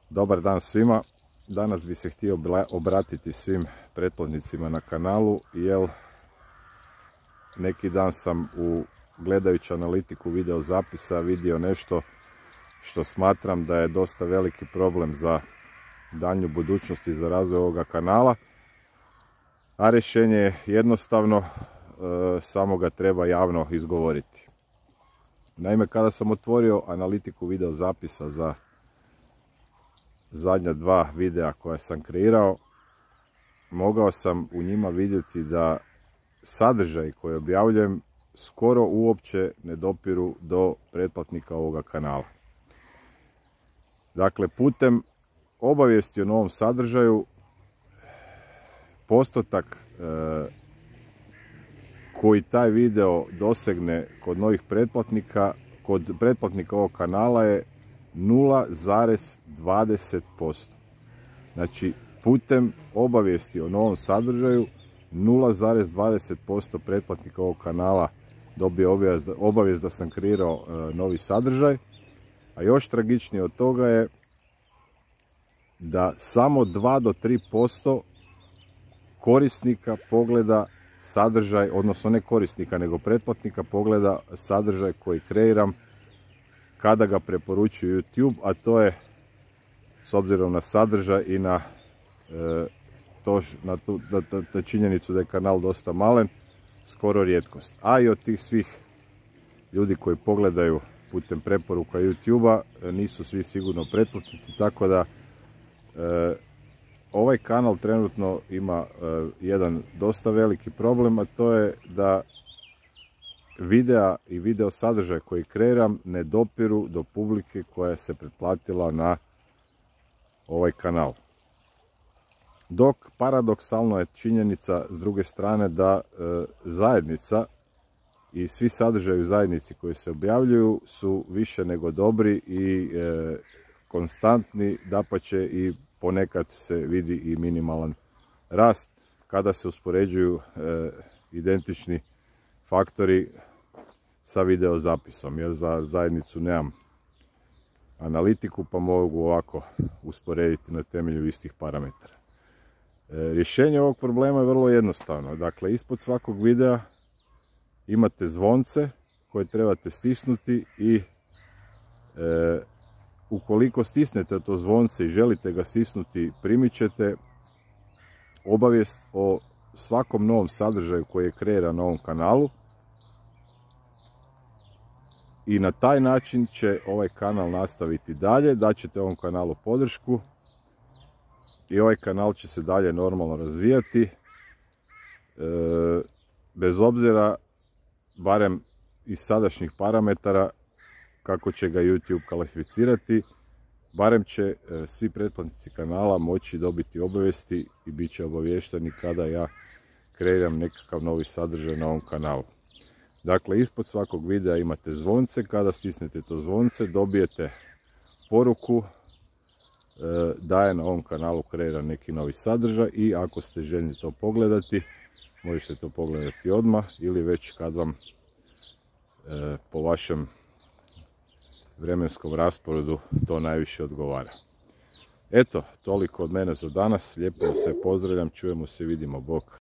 Dobar dan svima. Danas bi se htio obratiti svim pretplatnicima na kanalu, jer neki dan sam gledajući analitiku video zapisa vidio nešto što smatram da je dosta veliki problem za daljnju budućnost i za razvoj ovoga kanala. A rješenje je jednostavno, samo ga treba javno izgovoriti. Naime, kada sam otvorio analitiku video zapisa za zadnja dva videa koja sam kreirao, mogao sam u njima vidjeti da sadržaj koji objavljujem skoro uopće ne dopiru do pretplatnika ovoga kanala. Dakle, putem obavijesti o novom sadržaju, postotak koji taj video dosegne kod novih pretplatnika, kod pretplatnika ovog kanala je 0,20%. Znači, putem obavijesti o novom sadržaju 0,20% pretplatnika ovog kanala dobije obavijest da sam kreirao novi sadržaj. A još tragičnije od toga je da samo 2 do 3% korisnika pogleda sadržaj, odnosno ne korisnika nego pretplatnika pogleda sadržaj koji kreiram kada ga preporučuje YouTube, a to je, s obzirom na sadržaj i na činjenicu da je kanal dosta malen, skoro rijetkost. A i od tih svih ljudi koji pogledaju putem preporuka YouTube-a nisu svi sigurno pretplatnici, tako da ovaj kanal trenutno ima jedan dosta veliki problem, a to je da videa i video sadržaj koji kreiram ne dopiru do publike koja se pretplatila na ovaj kanal. Dok paradoksalno je činjenica s druge strane da zajednica i svi sadržaji u zajednici koji se objavljuju su više nego dobri i konstantni, dapače i ponekad se vidi i minimalan rast kada se uspoređuju identični faktori sa video zapisom, jer za zajednicu nemam analitiku pa mogu ovako usporediti na temelju istih parametara. Rješenje ovog problema je vrlo jednostavno. Dakle, ispod svakog videa imate zvonce koje trebate stisnuti i ukoliko stisnete to zvonce i želite ga stisnuti, primit ćete obavijest o svakom novom sadržaju koji je kreiran na ovom kanalu i na taj način će ovaj kanal nastaviti dalje, daćete ovom kanalu podršku i ovaj kanal će se dalje normalno razvijati, bez obzira, barem iz sadašnjih parametara, kako će ga YouTube kvalificirati, barem će svi pretplatnici kanala moći dobiti obavijesti i bit će obavješteni kada ja kreiram nekakav novi sadržaj na ovom kanalu. Dakle, ispod svakog videa imate zvonce, kada stisnete to zvonce dobijete poruku da je na ovom kanalu kreiran neki novi sadržaj i ako ste željni to pogledati, možete to pogledati odmah ili već kad vam po vašem vremenskom rasporedu to najviše odgovara. Eto, toliko od mene za danas. Lijepo vas sve pozdravljam, čujemo se, vidimo, bok.